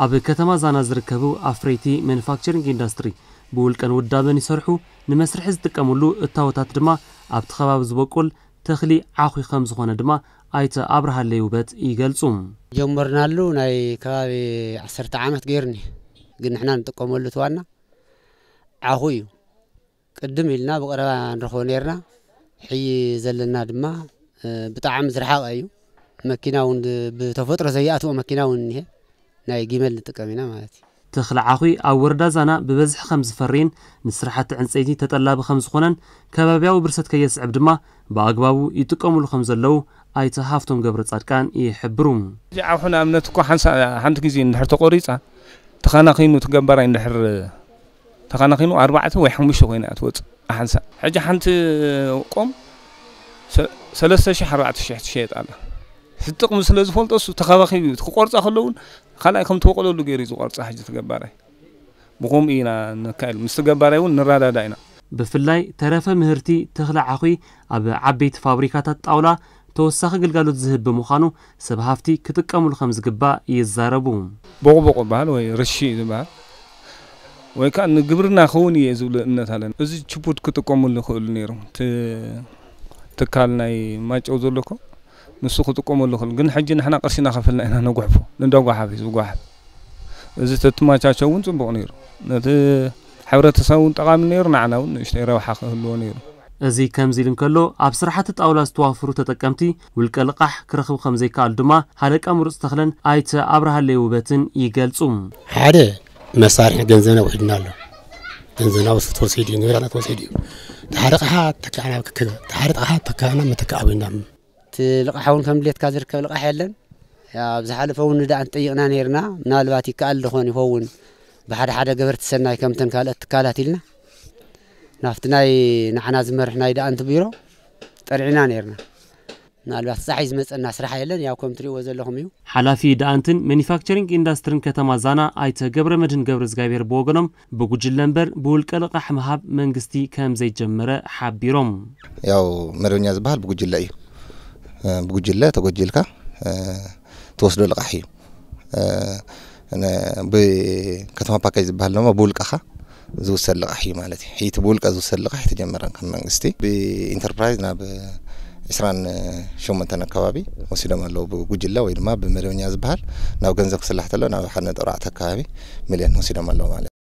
ኣብ ከተማ ዛና ዝርከቡ ኣፍረይቲ ማኑፋክቸሪንግ ኢንዱስትሪ ብውልቀን ውዳበን ይሰርሑ፣ ንመስርሒ ዝጥቀምሉ እታወታት ድማ ኣብቲ ከባቢ ዝበቁል ተኽሊ ዓኹ ከም ዝኾነ ድማ ኣይተ ኣብርሃለይ ውበት ይገልጹ። ጀመርናሉ ናይ ከባቢ ዓሰርተ ዓመት ገይሩኒ፣ ግን ንሕና ንጥቀመሉ እቲ ዋና ዓኹ እዩ። ቅድም ኢልና ብቐረባ ንረኽቦ ነይርና። ሕጂ ዘለና ድማ ብጣዕሚ ዝረሓቐ እዩ። መኪና እውን ብተፈጥሮ ዘይኣትዎ መኪና እውን እኒሀ። ናይ ጊመል ንጥቀም ኢና ማለት እዩ። ተኽሊ ዓኹ ኣብ ወረዳ ዛና ብበዝሒ ከም ዝፈርይን ንስራሕቲ ዕንፀይቲ ተጠላቢ ከም ዝኾነን ከባቢያዊ ብርሰት ከየስዕብ ድማ ብኣግባቡ ይጥቀሙሉ ከም ዘለዉ ኣይተ ሃፍቶም ገብረ ፃድቃን ይሕብሩ። እዚ ዓኹ ንኣብነት እኮ ሓንሳ ሓንቲ ግዜ እንድሕር ተቆሪፃ ተኻናኺኑ ትገባራይ እንድሕር ተኻናኺኑ ኣርባዕተ ወይ ሓሙሽተ ኮይና እያ ትወፅእ ሓንሳ። ሕጂ ሓንቲ ቆም ሰ- ሰለስተ ሺሕ ኣርባዕተ ሺሕ ትሸየጥ ኣላ። እቲ ጥቕሚ ስለ ዝፈልጦ እሱ ተኻባኺቡ እዩ። ክቆርፃ ከለውን ካልኣይ ከም ትወቕለሉ ገይሩ እዩ ዝቆርፃ ሕጂ ትገባራይ። ብኸምኡ ኢና ነካይድ። ምስ ትገባራይ እውን ንረዳዳ ኢና። ብፍላይ ተረፈ ምህርቲ ተኽሊ ዓኹ ኣብ ዓበይቲ ፋብሪካታት ጣውላ ተወሳኺ ግልጋሎት ዝህብ ብምዃኑ ሰብ ሃፍቲ ክጥቀምሉ ከም ዝግባእ ይዛረቡ። ቦቕቦቕ ዝበሃል ወይ ርሺ ዝበሃል ወይ ከዓ ንግብርና ክኸውን እየ ዝብሉ እምነት ኣለና። እዚ ችፑድ ክጥቀምሉ ይኽእሉ ነይሮም። እቲ ትካል ናይ ማጨው ዘሎ እኮ ንሱ ክጥቀመሉ ይኽእል። ግን ሕጂ ንሕና ቅርሽና ከፈልና ኢና ነጉሕፎ። ንደጓሓፍ እዩ ዝጓሓፍ። እዚ ተትማቻቸው እውን ፅቡቕ ነይሩ። ነቲ ሕብረተሰብ እውን ጠቓሚ ነይሩ፣ ንዓና እውን ንእሽተይ ረብሓ ክህልዎ ነይሩ። እዚ ከምዚ ኢሉ እንከሎ፣ ኣብ ስራሕቲ ጣውላ ዝተዋፈሩ ተጠቀምቲ ውልቀ ልቓሕ ክረኽቡ ከም ዘይከኣሉ ድማ ሃለቃ ምሩፅ ተኽለን ኣይተ ኣብርሃለይ ውበትን ይገልጹ። ሓደ መሳርሒ ገንዘብና ውሒድና ኣሎ። ገንዘብና ወስ- ተወሲዱ እዩ፣ ንብረትና ተወሲዱ እዩ። ተሓደ ቕሓ ተካዕና ክክ- ተሓደ ቕሓ ተካዕና መተካኣ ኮይና። እቲ ልቓሕ እውን ከም ድሌትካ ዝርከብ ልቓሕ የለን። ያው ኣብ ዝሓለፈ እውን ንደኣ እንጠይቕና ነይርና፣ ምናልባት ይከኣል ዝኾን ይኸውን ብሓደ ሓደ ገበርቲ ሰናይ ከምተን ካልኦት ትካላት ኢልና ናብቲ ናይ ንዓና ዝመርሕ ናይ ደኣንት ቢሮ ጠርዒና ነይርና። ምናልባት ጻሕ እዩ ዝመጸና ስራሕ የለን፣ ያው ከም ትሪእዎ ዘለኹም እዩ። ሓላፊ ደኣንትን ማኑፋክቸሪንግ ኢንዳስትሪን ከተማ ዛና ኣይተ ገብረ መድህን ገብረ እግዚኣብሔር ብወገኖም ብጉጅለ እምበር ብውልቀ ልቓሕ ምሃብ መንግስቲ ከም ዘይጀመረ ሓቢሮም። ያው መደበኛ ዝበሃል ብጉጅለ እዩ። እ፣ ብጉጅለ ተጎጂልካ፣ እ፣ ትወስዶ ልቓሕ እዩ። እ፣ ነ- ብከተማ ፓኬጅ ዝበሃል ድማ ብውልቀኻ ዝውሰድ ልቓሕ እዩ ማለት እዩ። ሕይቲ ብውልቀ ዝውሰድ ልቓሕ ኣይተጀመረን ከም መንግስቲ። ብኢንተርፕራይዝ ናብ ዕስራን ሸሞንተን ኣካባቢ ወሲዶም ኣለዉ። ብጉጅለ ወይ ድማ ብመደበኛ ዝበሃል ናብ ገንዘብ ክስላሕ ተሎ ናብ ሓደ ነጥቢ ኣርባዕተ ኣካባቢ ሚልዮን ወሲዶም ኣለዉ ማለት እዩ።